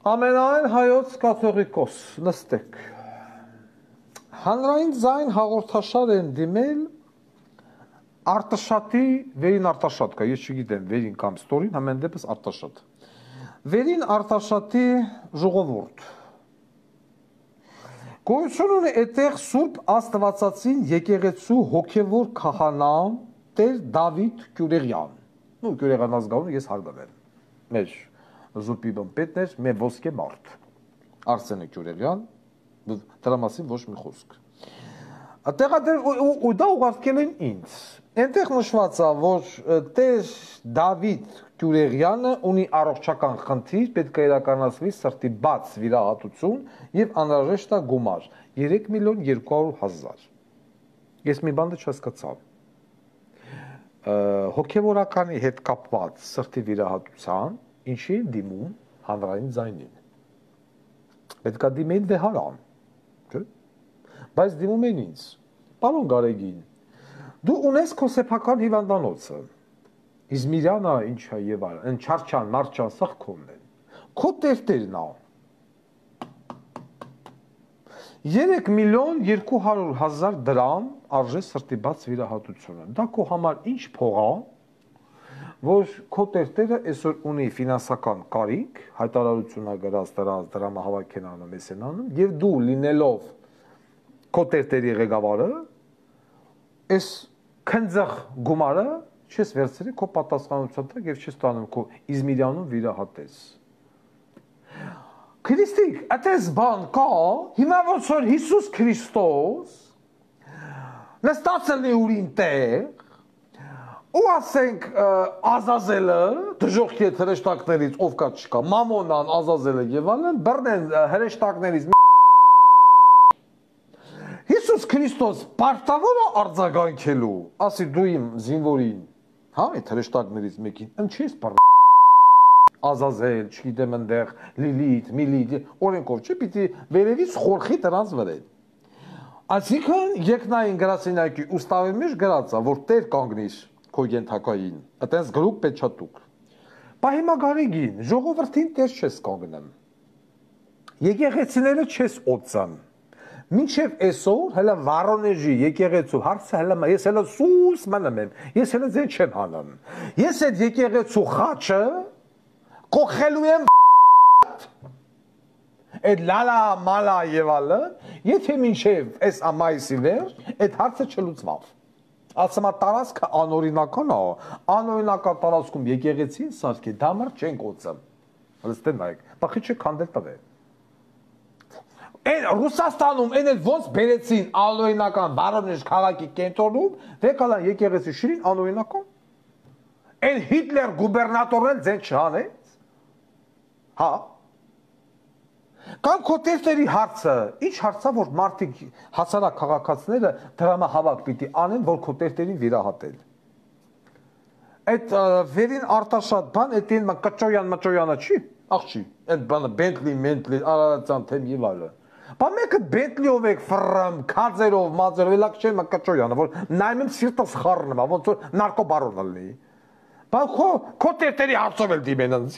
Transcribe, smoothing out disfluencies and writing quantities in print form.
Ամենայն հայոց կաթողիկոս, նստեք։ Հանրային ձայն հաղորդաշար են դիմել Արտաշատի, Վերին Արտաշատ կա, ես չգիտեմ Վերին կամ Ստորին, համեն դեպս Արտաշատ։ Վերին Արտաշատի ժողովուրդ։ Գոյություն ունի այդտեղ Սուրբ Աստվածածին եկեղեցու հոգևոր քահանա Տեր Դավիթ Գյուրեղյան։ Նու Գյուրեղյան ազգանունը ես հարգել եմ։ Մեր զուպի պետներ, մեր ոսկե մարդ, Արսենե Գյուրեղյան, դրա մասին ոչ մի խոսք։ Ու դա ուղարկել են ինձ։ Այնտեղ նշված է, որ Տեր Դավիթ Գյուրեղյանը ունի առողջական խնդիր, պետք է իրականացվի սրտի բաց վիրահատություն եւ անհրաժեշտ է գումար 3.200.000։ Ես մի բան չհասկացա։ Հոգևորականի հետ կապված սրտի վիրահատության ինչի դիմում հանրային ձայնին։ Պետք է դիմեն վեհարան, չէ՞։ Բայց դիմում են ինձ։ Պարոն Գարեգին, դու ունես քո սեփական հիվանդանոցը։ Իզմիրյանը ինչա եւ այլն, այն չարչան, մարչան սա քոնն են։ Քո տերտերն է։ 3.200.000 դրամ արժե սրտի բաց վիրահատությունը։ Դա քո համար ինչ փող է, որ քո տերտերը այսօր ունի ֆինանսական կարիք, հայտարարություն է գրած դրանց դրամահավաք են անում, էս են անում, եւ դու լինելով քո տերտերի ղեկավարը, այս քնձախ գումարը չես վերցրի քո պատասխանատվության տակ եւ չես տանում քո Իզմիրյանում վիրահատես։ Քրիստիկ, այդպես բան կա, հիմա ոնց որ Հիսուս Քրիստոս նստած է ուրին տեղ, ու ասենք Ազազելը, դժողքի հետ հրեշտակներից ով կա չկա, Մամոնան, Ազազելը եւ այլն, բռնեն հրեշտակներից Հիսուս Քրիստոս պարտավոր է արձագանքելու, ասի դու իմ զինվորին, հա, այդ հրեշտակներից մեկին, ինչի՞ ես Ազազել, չգիտեմ ընդեղ, Լիլիթ, Միլիթ, օրենքով չէ, պիտի վերևից խորխի դրանց վրա։ Այսինքն երկնային գրասենյակի ուստավի մեջ գրած է, որ Տեր կանգնիր քո ենթակային, այտենց գրուկ պեչատուկ։ Բա հիմա Գարեգին, ժողովրդին Տեր չես կանգնեմ։ Եկեղեցիները չես օծան։ Մինչև այսօր հələ Վարոնեժի եկեղեցու հարցը հələ ես հələ սուս մնում եմ, ես հələ ձեն չեմ հանում։ Ես այդ եկեղեցու խաչը կողելու եմ այդ լալա մալա եւ ալը, եթե մինչև այս ամայիսի վեր այդ հարցը չլուծվավ։ Ասում տարածքը անօրինական է, անօրինական տարածքում եկեղեցին սարքի դամր չեն կոծում։ Հստակ նայեք, բախի չի քանդել տվել։ Այն Ռուսաստանում այն էլ ոնց բերեցին անօրինական Վարոնեժ քաղաքի կենտրոնում, դեկալան եկեղեցի շիրին անօրինական։ Այն Հիտլեր գուբերնատորն ձեն չհանեց։ Հա։ Կամ քո տերտերի հարցը, ինչ հարցա որ մարդիկ հասարակ քաղաքացիները դրամահավաք պիտի անեն, որ քո տերտերին վիրահատել։ Այդ Վերին Արտաշատ բան, այդ այն կճոյանը չի, աղջի, այդ բանը Բենտլի, Արարատյան թեմ եւ այլն։ Բա մեկը Բենտլիով եք ֆրամ, քածերով, մազերով, լակ չէ, կճոյանը, որ նայում եմ սիրտս խառնում է, ոնց որ նարկոբարոն լինի։ Բա քո տերտերի հարցով էլ դիմեն ինձ։